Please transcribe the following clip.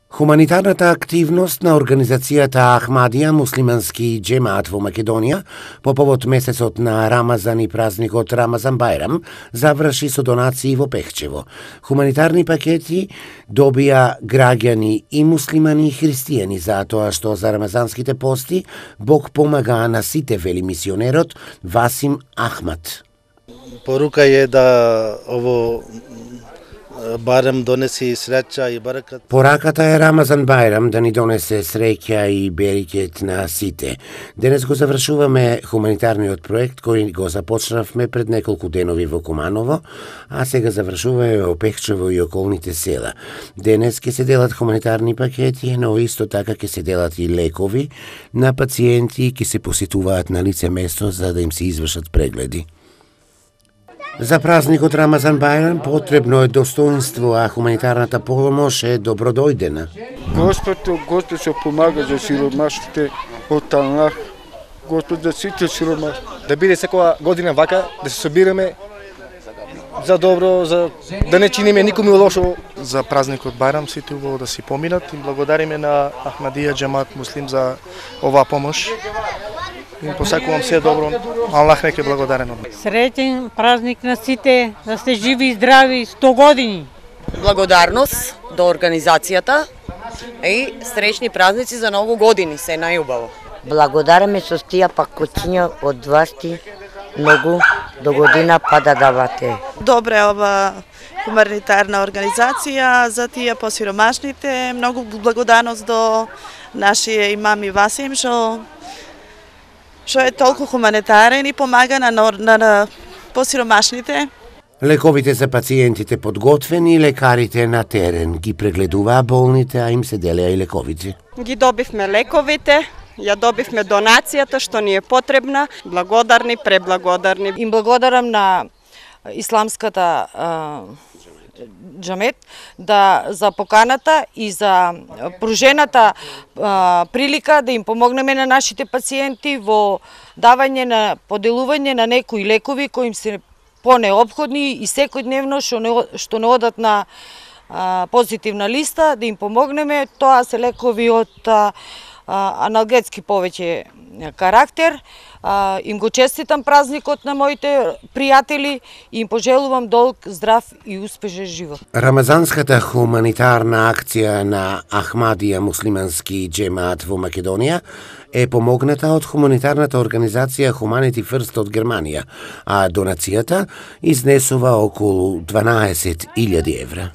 Хуманитарната активност на организацијата Ахмадија муслимански џемаат во Македонија по повод месецот на Рамазан и празникот Рамазан Бајрам заврши со донации во Пехчево. Хуманитарни пакети добија граѓани и муслимани и христијани затоа што за рамазанските пости Бог помага на сите, вели мисионерот Васим Ахмад. Порука е да ово Бајрам донеси среќа и баракат. Пораката е Рамазан Бајрам да ни донесе среќа и берекет на сите. Денес го завршуваме хуманитарниот проект кој го започнавме пред неколку денови во Куманово, а сега завршуваме во Пехчево и околните села. Денес ќе се делат хуманитарни пакети, но исто така ќе се делат и лекови на пациенти ќе се посетуваат на лице место за да им се извршат прегледи. За празникот Рамазан Бајрам потребно е достоинство, а хуманитарната помош е добродојдена. Господ се помага за сиромашните од Аллах. Господ за сите сиромашни. Да биде секоја година вака, да се собираме за добро, за да не чиниме никому лошо. За празникот Бајрам сите убаво да си поминат и благодариме на Ахмадија џемаат муслим за оваа помош. Им посакувам се добро, Аллах нека е благодарен од мене. Среќен празник на сите, да сте живи и здрави 100 години. Благодарност до организацијата и среќни празници за многу години, се најубаво. Благодараме со тие пакоциња од вашти многу до година па да давате. Добре ова хуманитарна организација за тие посиромашните, многу благодарност до нашиот имам и Васим што е толку хуманитарен и помага на посиромашните. Лековите за пациентите подготвени, лекарите на терен ги прегледуваа болните, а им се делеа и лековите. Ги добивме лековите, ја добивме донацијата што ни е потребна, благодарни, преблагодарни. Им благодарам на исламската џамет за поканата и за пружената прилика да им помогнеме на нашите пациенти во давање на поделување на некои лекови кои им се понеопходни и секојдневно што не одат на позитивна листа, да им помогнеме. Тоа се лекови од аналгетски повеќе карактер. Им го честитам празникот на моите пријатели и им пожелувам долг, здрав и успешен живот. Рамазанската хуманитарна акција на Ахмадија муслимански џемаат во Македонија е помогната од хуманитарната организација Humanity First од Германија, а донацијата изнесува околу 12.000 евра.